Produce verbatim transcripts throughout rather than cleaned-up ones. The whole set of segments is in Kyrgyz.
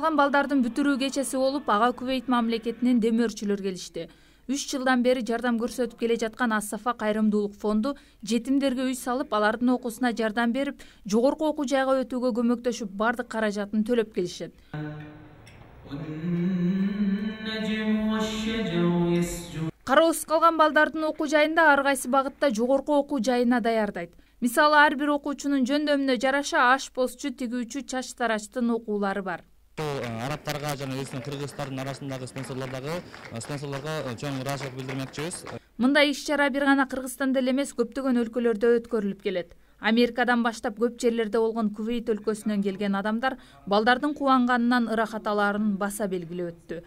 калган балдардын бүтүрүү кечеси болуп, ага Кувейт мамлекетинен демөөрчүлөр келишти. үч жылдан бери жардам көрсөтүп келе жаткан Ас-Сафа кайрымдуулук фонду жетимдерге үй салып, алардын окуусуна жардам берип, жогорку окуу жайга өтүүгө көмөктөшүп, бардык каражатын төлөп келишет. Кароосуз калган балдардын окуу жайында ар кайсы багытта жогорку окуу жайына даярдайт. Мисалы, ар бир окуучунун жөндөмүнө жараша аш постчу, тигүүчү, чач тарачтын окуулары бар. Арабтарга жана биздин кыргыздардын арасындагы спонсорлордогу спонсорлорго чоң ыраазычылык билдирмекчибиз. Мындай иш-чара бир гана Кыргызстанда эле эмес, көптөгөн өлкөлөрдө өткөрүлүп келет. Америкадан баштап көп жерлерде болгон Кувейт өлкөсүнөн келген адамдар балдардын кубанганынан ырахат алаарын баса белгилеп өттү.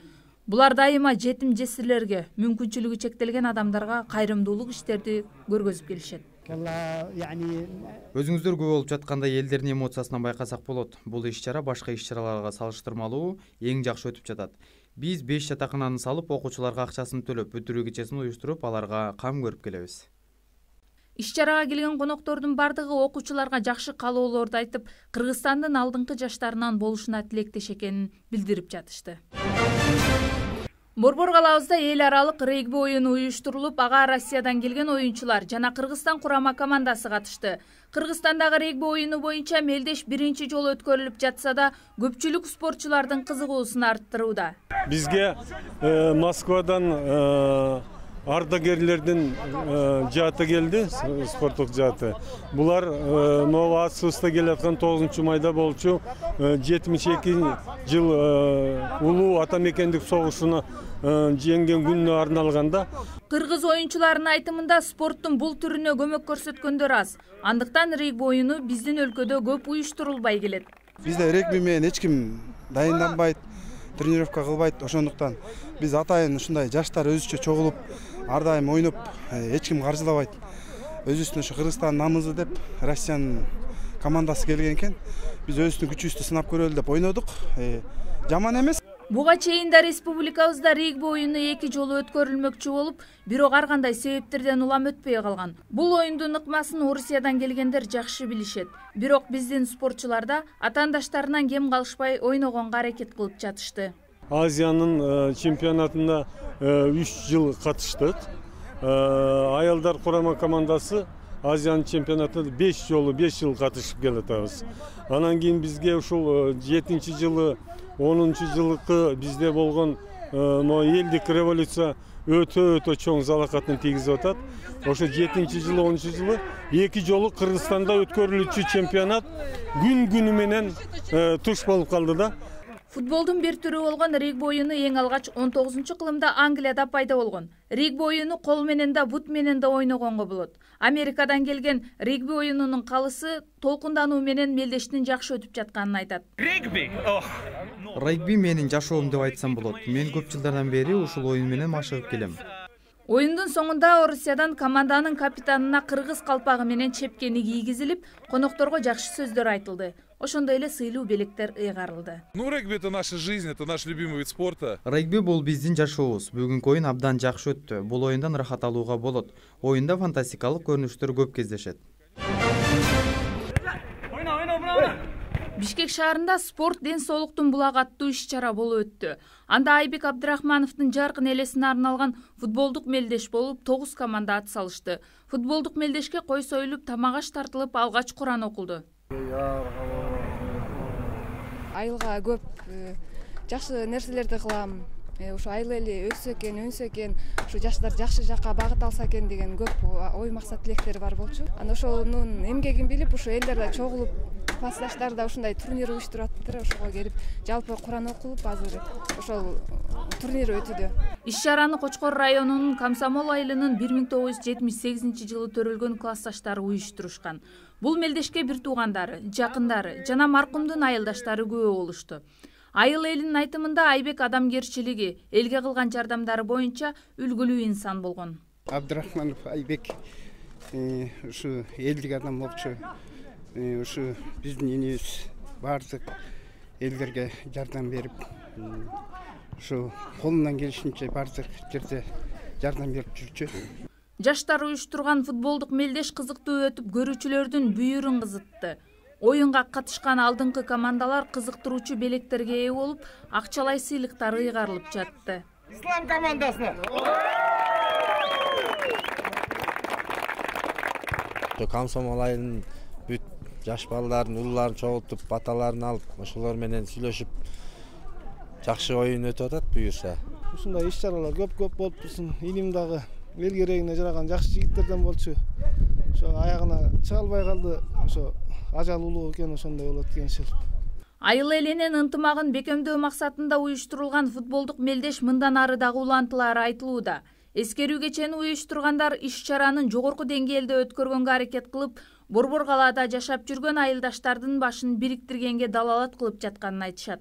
Булар дайыма жетим жесирлерге, мүмкүнчүлүгү чектелген адамдарга кайрымдуулук иштерди көргөзүп келишет. Өзүңүздөр күбө болуп жаткандай элдердин эмоциясынан байкасак болот. Бул иш-чара башка иш-чараларга салыштырмалуу эң жакшы өтүп жатат. Биз беш жатакананы салып, окуучуларга акчасын төлөп, бүтүрүү кечесин уюштуруп, аларга кам көрүп келебиз. Иш-чарага келген коноктордун бардыгы окуучуларга жакшы каалоолорду айтып, Кыргызстандын алдыңкы жаштарынан болушуна тилектеш экенин билдирип жатышты. Борбор калабызда эл аралык регби оюну уюштурулуп, ага Россиядан келген оюнчулар жана Кыргызстан курама командасы катышты. Кыргызстандагы регби оюну боюнча мелдеш биринчи жолу өткөрүлүп жатса да, көпчүлүк спортчулардын кызыгуусун арттырууда. Бизге Москвадан ардагерлердин жааты келди, спорттук жааты. Булар могу Ат-Сууста келаткан тогузунчу майда болчу жетимиш эки жыл улуу ата мекендик согушуна жеңген күнүнө арналганда. Кыргыз оюнчуларынын айтымында спорттун бул түрүнө көмөк көрсөткөндөр аз. Андыктан регби оюну биздин өлкөдө көп уюштурулбай келет. Бизде регби менен эч ким дайынданбайт, тренировка кылбайт. Ошондуктан биз атайын ушундай жаштар өзүчө чогулуп, ар дайым ойноп, эч ким каржылабайт. Өзүбүздүн ушу Кыргызстан намызы деп Россиянын командасы келген экен. Биз өзүбүздүн күчүбүздү сынап көрөлү деп ойнодук. Жаман эмес. Буга чейин да республикабызда регби оюну эки жолу өткөрүлмөкчү болуп, бирок ар кандай себептерден улам өтпөй калган. Бул оюндун ыкмасын Орусиядан келгендер жакшы билишет. Бирок биздин спортчуларда атаандаштарынан кем калышпай ойногонго аракет кылып жатышты. Азиянын чемпионатына үч жыл катыштык. Аялдар курама командасы Азиянын чемпионатына беш жолу беш жыл катышып келатабыз. Анан кийин бизге ушул жетинчи жылы, онунчу жылкы бизде болгон элдик революция өтө-өтө чоң залакатын тийгизип атат. Ошо жетинчи жылы, онунчу жылы эки жолу Кыргызстанда өткөрүлүүчү чемпионат күн-күнү менен туш болуп калды да. Футболдун бир түрү болгон регби оюну эң алгач он тогузунчу кылымда Англияда пайда болгон. Регби оюну кол менен да, бут менен да ойногонго болот. Америкадан келген регби оюнунун калысы толкундануу менен мелдештин жакшы өтүп жатканын айтат. Регби Регби менин жашоом деп айтсам болот. Мен көп жылдардан бери ушул оюн менен машыгып келем. Оюндун соңунда Орусиядан команданын капитанына кыргыз калпагы менен чепкени кийгизилип, конокторго жакшы сөздөр айтылды. Ошондой эле сыйлуу белектер ыйгарылды. Ну, регби — это наша жизнь, это наш любимый вид спорта. Регби бул биздин жашообуз. Бүгүнкү оюн абдан жакшы өттү. Бул оюндан ырахат алууга болот. Оюнда фантастикалык көрүнүштөр көп кездешет. Бишкек шаарында спорт ден соолуктун булагы аттуу иш-чара болуп өттү. Анда Айбек Абдрахмановдун жаркын элесине арналган футболдук мелдеш болуп, тогуз команда ат салышты. Футболдук мелдешке кой союлуп, тамак-аш тартылып, алгач Куран окулду. Айылга көп жакшы нерселерди кылам. Ушу айыл эли өссө экен, өнсө экен, ушу жаштар жакшы жакка багыт алса экен деген көп ой максат тилектери бар болчу. Анан ошонун эмгегин билип, ушу элдер чогулуп, классташтар да ушундай турнир уюштуруп аттыр. Ошого келип, жалпы Куран окулуп, азыр ошол турнир өтүүдө. Иш-чараны Кочкор районунун Комсомол айылынын бир миң тогуз жүз жетимиш сегизинчи жылы төрөлгөн классташтары уюштурушкан. Бул мелдешке бир туугандары, жакындары жана маркумдун айылдаштары күбө болушту. Айыл элинин айтымында Айбек адамгерчилиги, элге кылган жардамдары боюнча үлгүлүү инсан болгон. Абдрахманов Айбек ушу элдик адам болчу. Ушу биздин энебиз бардык элдерге жардам берип, ушу колунан келишинче бардык жерде жардам берип жүрчү. Жаштар уюштурган футболдук мелдеш кызыктуу өтүп, көрүүчүлөрдүн бүйүрүн кызытты. Оюнга катышкан алдыңкы командалар кызыктыруучу белектерге ээ болуп, акчалай сыйлыктар ыйгарылып жатты. Ислам командасына Комсомол айылынын бүт жаш балдарын, улууларын чогултуп, баталарын алып, ошолор менен сүйлөшүп, жакшы оюн өтүп атат буюрса. Ушундай иш-чаралар көп-көп болуп турсун. Илим дагы эл керегине жараган жакшы жигиттерден болчу. Ошо аягына чыга албай калды. Ошо ажал улуу экен, ошондой болот экен иши. Айыл элинин ынтымагын бекемдөө максатында уюштурулган футболдук мелдеш мындан ары дагы улантылары айтылууда. Эскерүү кечени уюштургандар иш-чаранын жогорку деңгээлде өткөргөнгө аракет кылып, Борбор калаада жашап жүргөн айылдаштардын башын бириктиргенге далалат кылып жатканын айтышат.